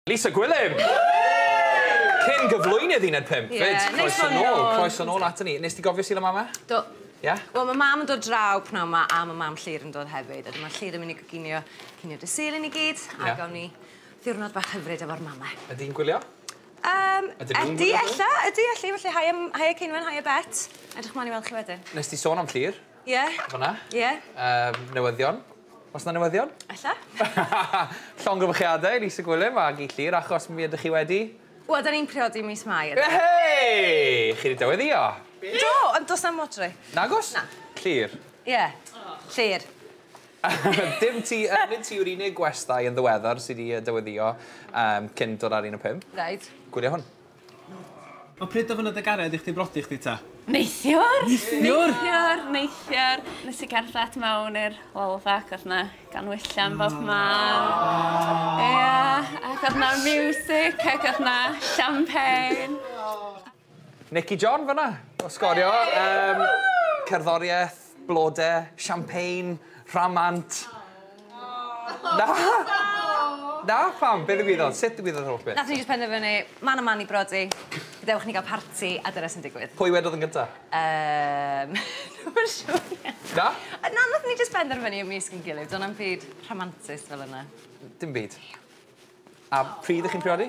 Lisa Gwilym! Cyn gyflwynydd Uned 5, fyd. Croeso nôl, croeso nôl aton ni. Nes ti gofio Sul y Mama? Do. Ie? Wel, mae mam yn dod draw pnawn 'ma a mae mam Llyr yn dod hefyd. A dyma Llyr yn mynd i goginio cinio dydd Sul i ni gyd. A gawn ni ddiwrnod bach hyfryd efo'r mamau. Ydy'n gwylio? Ydy, ella, ydy, elli. Felly, haia, haia Ceinwen, haia Bet. Edrych mlaen i weld chi wedyn. Nes ti sôn am Llyr? Ie. Fan'na? Ie. Newyddion. Oes 'na newyddion? Ella. Llongyfarchiadau, Lisa Gwilym ag i Llyr, achos mi ydych chi wedi... Wel, da ni'n priodi mis Mai. Hei! Chi wedi dyweddio? Do, ond does na'm modry. Nagos? Na. Llyr? Ie. Llyr. Dim ti, nid ti yw'r unig gwestai yn ddiweddar sydd wedi dyweddio cyn dod ar 1 o 5. Reit. Gwylio hwn. O pryd ofynnodd dy gariad i chdi brodi chdi ta? Neithiwr! Neithiwr? Neithiwr, neithiwr. Nes i gerdded mewn i'r Lolfa ac oedd 'na ganwyllian bob man. Ia, ac oedd 'na music ac oedd 'na champagne. Nicky John fyna, o Sgorio. Cerddoriaeth, blode, champagne, rhamant. Na! Na, pam? Be ddigwyddodd? Sut ddigwyddodd yr holl beth? Nath ni jyst penderfynu, man a man i brodi, gadewch ni gael parti, a dyna sy'n digwydd. Pwy wedodd yn gynta? Dwi'm yn siŵr. Na? Na, nath ni jyst penderfynu ymysg yn gilydd, do'n na'm byd rhamantus fel yna. Dim byd. A pryd ych chi'n priodi?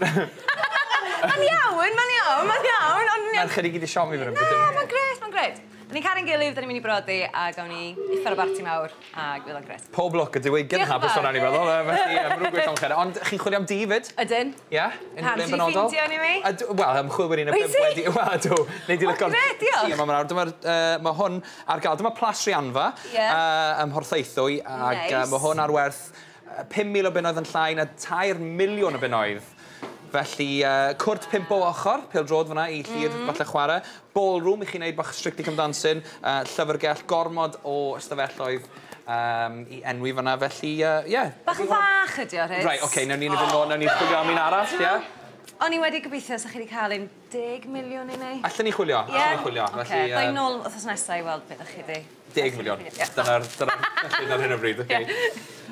Mae'n iawn, mae'n iawn, mae'n iawn, ond... Merched i gyd i siomi fan hyn. Na, mae'n grêt, mae'n grêt. Da ni'n caru'n gilydd, da ni'n mynd i brodi, a gawn ni uffar o barti mawr, a fydd o'n grêt. Pob lwc, y diwygiad yn Diolch yn hapus fawr. o'n i'n meddwl. Felly, maen nhw'n gweithio'n chwarae. Ond chi'n chwilio am dŷ fyd? Ydyn. Ie? Pam, Unrhyw ti le 'di benodol? ffeindio un i mi? Wel, ymchwilwyr un o Wyt pump ti? wedi... Wel, ydw. Nei di O, lico'r grêt, diolch. tŷ yma nawr. Dyma'r, mae hwn ar gael. Dyma Plas Rhianfa ym Mhorthaethwy. Ac mae hwn ar werth 5,000 o bunnoedd yn llai na 3 miliwn o bunnoedd. Felly, cwrt 5 o ochr, pêl-droed fyna i Llyr falle chwarae. Ballroom i chi wneud bach Strictly Come Dancing, llyfrgell, gormod o ystafelloedd i enwi fyna. Felly, ie. Yeah. Bach yn fach ydi o, Rhys. Right, oce, okay, newn ni fynd nôl, newn ni chwilio am un arall, ie? Yeah? O'n i wedi gobeithio sa chi wedi cael un 10 miliwn i ni. Allen ni chwilio, allen ni chwilio. Oce, Felly, dda i nôl wythnos nesaf i weld beth ydych chi di. 10 miliwn. Ie. Dyna'r ar hyn o bryd, oce.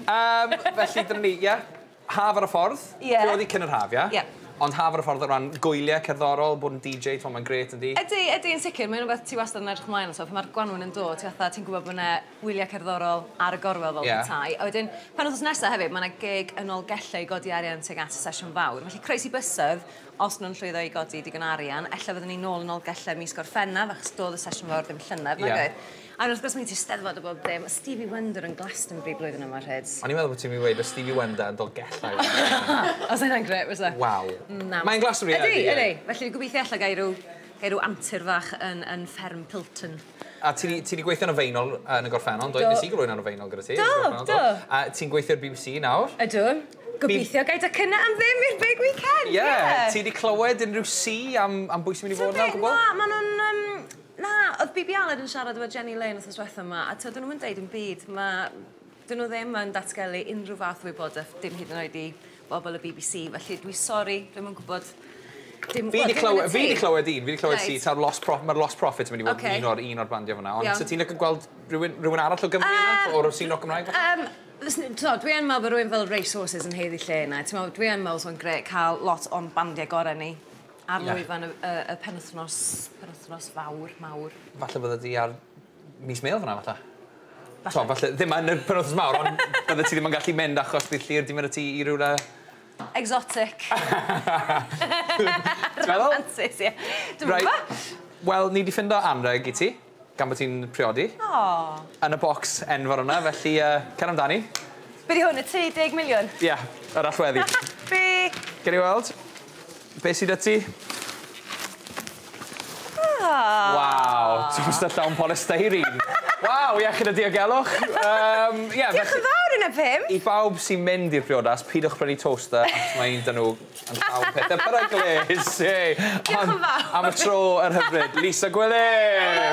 Felly, dyna ni, ie. Haf ar y ffordd. Ie. Priodi cyn yr haf, ie? Ie. Ond haf ar y ffordd o ran gwyliau cerddorol, bod yn DJ, ti'n mae'n grêt yndi? Ydy, ydy, yn sicr. Mae'n rhywbeth ti wastad yn edrych ymlaen ato. Pan mae'r gwanwyn yn dod, ti fatha, ti'n gwybod bod yna wyliau cerddorol ar y gorwel fel petai. A wedyn, pen wythnos nesaf hefyd, mae yna gig yn Nolgellau i godi arian tuag at y sesiwn fawr. Felly croesi bysedd, os nhw'n llwyddo i godi digon arian, ella fyddwn ni nôl yn Nolgellau mis Gorffennaf, achos doedd y sesiwn fawr ddim llynedd, nag oedd? A wrth gwrs, mae'n ti Steddfod o bob dim. Stevie Wonder yn Glastonbury blwyddyn yma, Rhys. O'n i'n meddwl bod ti'n mynd i weud o Stevie Wonder yn Dolgellau. Os yna'n grêt, fysa? Waw. Na. Mae'n Glastonbury, Ydy, ydy, ydy. Felly gobeithio alla gai ryw antur fach yn fferm Pilton. A ti 'di gweithio yn y Feinol yn y gorffennol, do? Do. Nes i gyflwyno yn y Feinol gyda ti. Do, yn y gorffennol, do. A ti'n gweithio i'r BBC nawr? Ydw. Gobeithio gai docynnau am ddim i'r big weekend. Ie. Yeah. Ti 'di clywed unrhyw si am bwy sy'n mynd i fod yna o gwbl? Na, ma' nhw'n... Na, oedd BB Aled yn siarad efo Jenny Lane wythnos diwetha yma, a dyn nhw'n deud yn byd, dyn nhw ddim yn datgelu unrhyw fath o wybodaeth, dim hyd yn oed i bobl y BBC, felly dwi sori, dwi'm yn gwybod dim, Fi wel, 'di dim clywed, yn y fi 'di tŷ. clywed un, fi 'di clywed si, ta'r mae'r Lost Prophets yn mynd i fod un o'r bandiau fyna. Ond so ti'n licio gweld rhywun arall o Gymru yna? O'r scene rock Gymraeg, falle? So, dwi yn meddwl bod rhywun fel Racehorses yn haeddu lle yna. Ti'n meddwl, dwi yn meddwl so'n grêt cael lot o'n bandiau gorau ni ar lwyfan y penwythnos fawr, mawr. Falle bydde di ar mis Mêl fyna, falle. Falle. Falle, ddim yn y penwythnos mawr, ond bydde ti ddim yn gallu mynd achos bydd Llyr di mynd â ti i rywle... Exotic. Ti'n meddwl? Romantic, ie. Dwi'n gwybod. Wel, ni di ffindo anreg i ti, gan bod ti'n priodi. O. Yn y bocs enfawr yna, felly cer amdani. Be di hwn, y 30 miliwn? Ie, yeah, yr allweddi. Be? Ger i weld? Be sydd 'da ti? Ah. Waw, toaster llawn polystyrene. Waw, iechyd a diogelwch. Yeah, Diolch yn fawr, Uned 5. I bawb sy'n mynd i'r priodas, pidwch prynu toaster, achos mae un dyn nhw yn llawn pethau peryglus. Yay. Diolch yn fawr. Am y tro yr hyfryd, Lisa Gwilym!